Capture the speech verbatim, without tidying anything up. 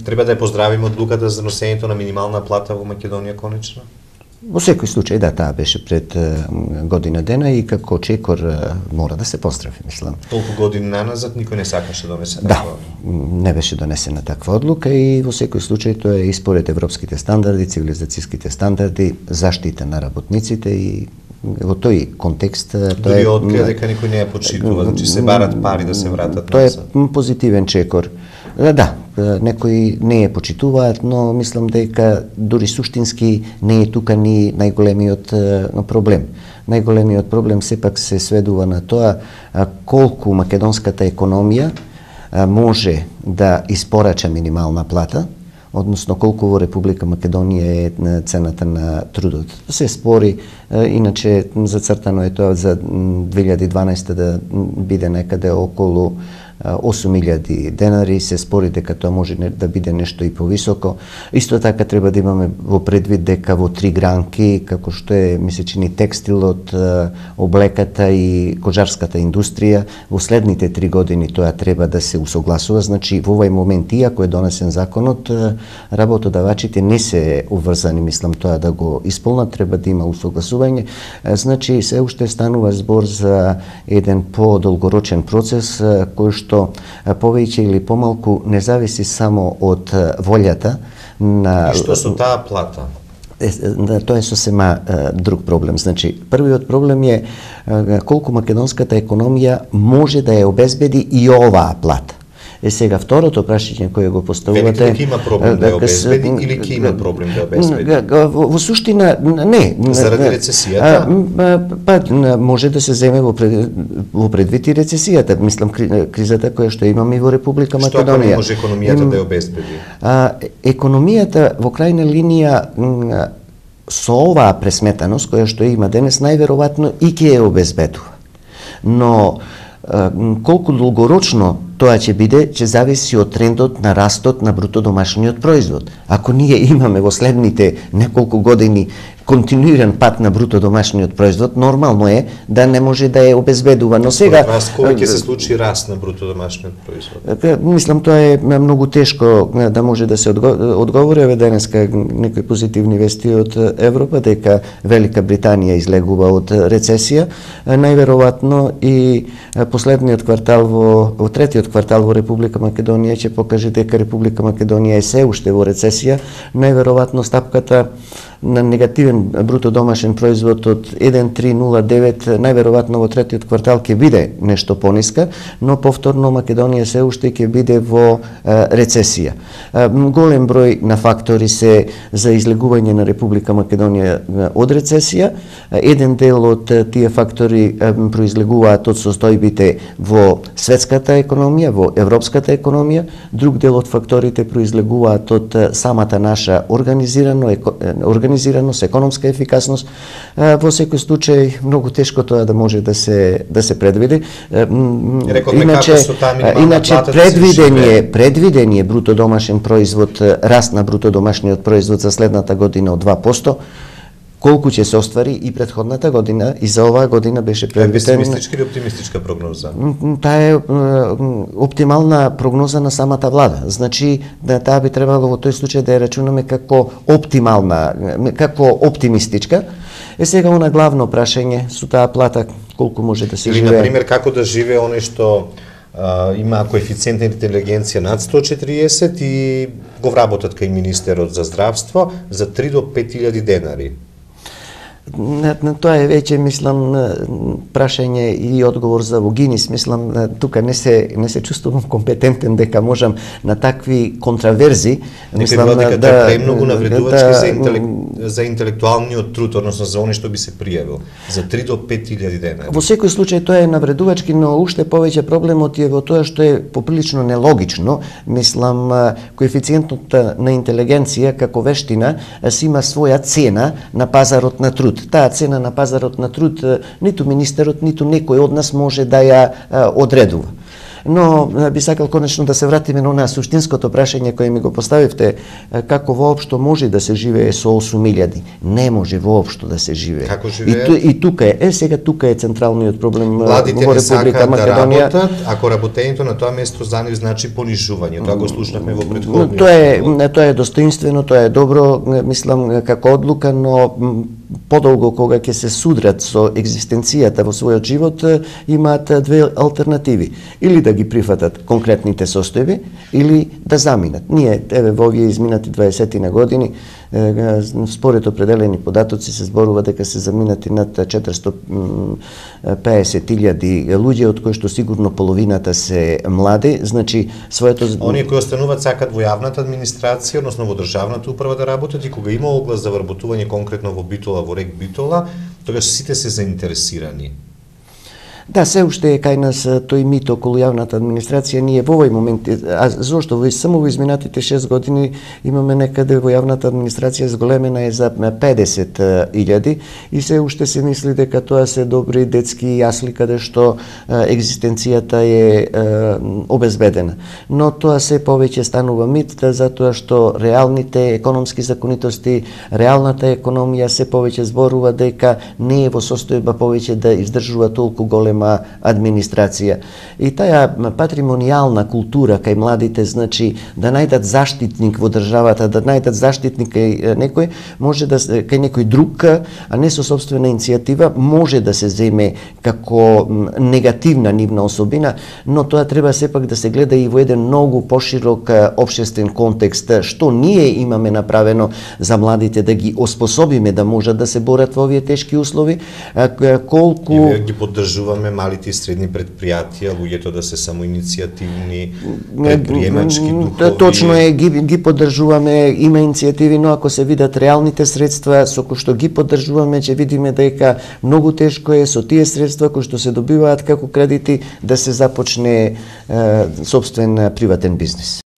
Треба да ја поздравиме одлуката за носењето на минимална плата во Македонија конечно? Во секој случај, да, таа беше пред година дена и како чекор мора да се поздрави, мислам. Толку години наназад никој не сакаше да донесе да, таква. Не беше донесена таква одлука и во секој случај тоа е и според европските стандарди, цивилизацијските стандарди, заштита на работниците и во тој контекст тоа е... Дури открија дека никој не ја почитува, значи се барат пари да се вратат назад. Тоа е позитивен чекор. Да, некои не ја почитуваат, но мислам дека дури суштински не е тука ни најголемиот проблем. Најголемиот проблем сепак се сведува на тоа колку македонската економија може да испорача минимална плата, односно колку во Република Македонија е цената на трудот. Се спори, иначе зацртано е тоа за две илјади и дванаесета да биде некаде околу осум илјади денари, се спори дека тоа може да биде нешто и повисоко. Исто така треба да имаме во предвид дека во три гранки, како што е, ми се чини, текстилот, облеката и кожарската индустрија, во следните три години тоа треба да се усогласува. Значи, во овој момент, иако е донесен законот, работодавачите не се уврзани, мислам, тоа да го исполнат, треба да има усогласување. Значи, се уште станува збор за еден подолгорочен процес, кој што што повеќе или помалку не зависи само од волјата на... И што со таа плата? Е, тоа е сосема друг проблем. Значи, првиот проблем е колку македонската економија може да ја обезбеди и оваа плата. Е сега второто прашање кое го поставувате... Велики има проблем да ја обезбеди или ки има проблем да ја обезбеди? Во суштина, не. Заради рецесијата? Па, може да се земе во предвид и рецесијата. Мислам, кризата која што имаме и во Република Македонија. Што ако не може економијата да ја обезбеди? Економијата во крајна линија со оваа пресметаност која што има денес, најверојатно и ќе ја обезбедува. Но колку долгорочно тоа ќе биде, ќе зависи од трендот на растот на бруто домашниот производ. Ако ние имаме во следните неколку години континуиран пат на бруто домашниот производ, нормално е да не може да е обезбедува. Но сега кога ќе се случи раст на бруто домашниот производ? Мислам тоа е многу тешко да може да се одговори. Еве денеска некои позитивни вести од Европа дека Велика Британија излегува од рецесија. Најверојатно и последниот квартал во, во третиот квартал во Република Македонија ќе покаже дека Република Македонија е се уште во рецесија. Најверојатно стапката на негативен бруто домашен производ од еден цел три нула девет, најверојатно во третиот квартал ќе биде нешто пониска, но повторно Македонија се уште ќе биде во рецесија. Голем број на фактори се за излегување на Република Македонија од рецесија. Еден дел од тие фактори произлегуваат од состојбите во светската економија, во европската економија, друг дел од факторите произлегуваат од самата наша организирано организираност, економска ефикасност. Во секој случај многу тешко тоа да може да се да се предвиди. Иначе иначе предвидение предвидение бруто домашен производ, раст на бруто домашниот производ за следната година од два проценти. Колку ќе се оствари и претходната година и за оваа година беше предвидена. Песимистичка или оптимистичка прогноза? Таа е оптимална прогноза на самата влада. Значи, да, таа би требало во тој случај да ја рачунаме како оптимална, како оптимистичка. Е сега она главно прашање со таа плата колку може да се или, живее. Или, например, како да живее оној што а, има коефициент на интелигенција над сто четириесет и го вработат кај министерот за здравство за три до пет илјади денари. На, на тоа е веќе, мислам, прашање и одговор за Вогинис. Мислам, тука не се не се чувствувам компетентен дека можам на такви контраверзи, мислам, дека да тоа е премногу навредувачки да, за, интелек, за интелектуалниот труд, односно за оној што би се пријавил, за три до пет илјади денари. Во секој случај тоа е навредувачки, но уште повеќе проблемот е во тоа што е поприлично нелогично. Мислам, коефициентот на интелигенција како вештина си има своја цена на пазарот на труд. Таа цена на пазарот на труд ниту министерот, ниту некој од нас може да ја одредува. Но би сакал конечно да се вратиме на онаа суштинското прашање кое ми го поставивте, како воопшто може да се живее со осум илјади. Не може воопшто да се живее. Како живеат? И, ту, и тука е, е сега тука е централниот проблем Младите во не Република сакаат да Македонија. работат, ако работењето на тоа место за нив значи понижување. Тоа го слушнавме во претходниот. Тоа е тоа е достоинствено, тоа е добро, мислам како одлука, но подолго кога ќе се судрат со екзистенцијата во својот живот, имаат две алтернативи. Или да ги прифатат конкретните состојби, или да заминат. Ние, еве, во овие изминати дваесет години, според определени податоци се зборува дека се заминати над четиристотини и песет илјади луѓе, од кои што сигурно половината се млади, значи своето... Оние кои остануваат сакат во јавната администрација, односно во државната управа да работат, и кога има оглас за вработување конкретно во Битола, во РЕК Битола, тогаш сите се заинтересирани. Да, се уште е кај нас тој мит околу јавната администрација. Ние во овој момент, а зошто во само во изминатите шест години имаме некаде во јавната администрација зголемена е за педесет илјади и се уште се мисли дека тоа се добри детски јасли каде што екзистенцијата е обезбедена. Но тоа се повеќе станува мит, затоа што реалните економски законитости, реалната економија се повеќе зборува дека не е во состојба повеќе да издржува толку голем администрација. И таа патримонијална култура кај младите, значи да најдат заштитник во државата, да најдат заштитник кај некој, може да кај некој друг, а не со сопствена иницијатива, може да се земе како негативна нивна особина, но тоа треба сепак да се гледа и во еден многу поширок општествен контекст, што ние имаме направено за младите да ги оспособиме да можат да се борат во овие тешки услови, колку и ги поддржуваме малите и средни предпријатија, луѓето да се самоиницијативни, предприемачки, духови. Точно е, ги, ги поддржуваме, има иницијативи, но ако се видат реалните средства со кои што ги поддржуваме, ќе видиме дека многу тешко е со тие средства кои што се добиваат како кредити да се започне е, сопствен приватен бизнис.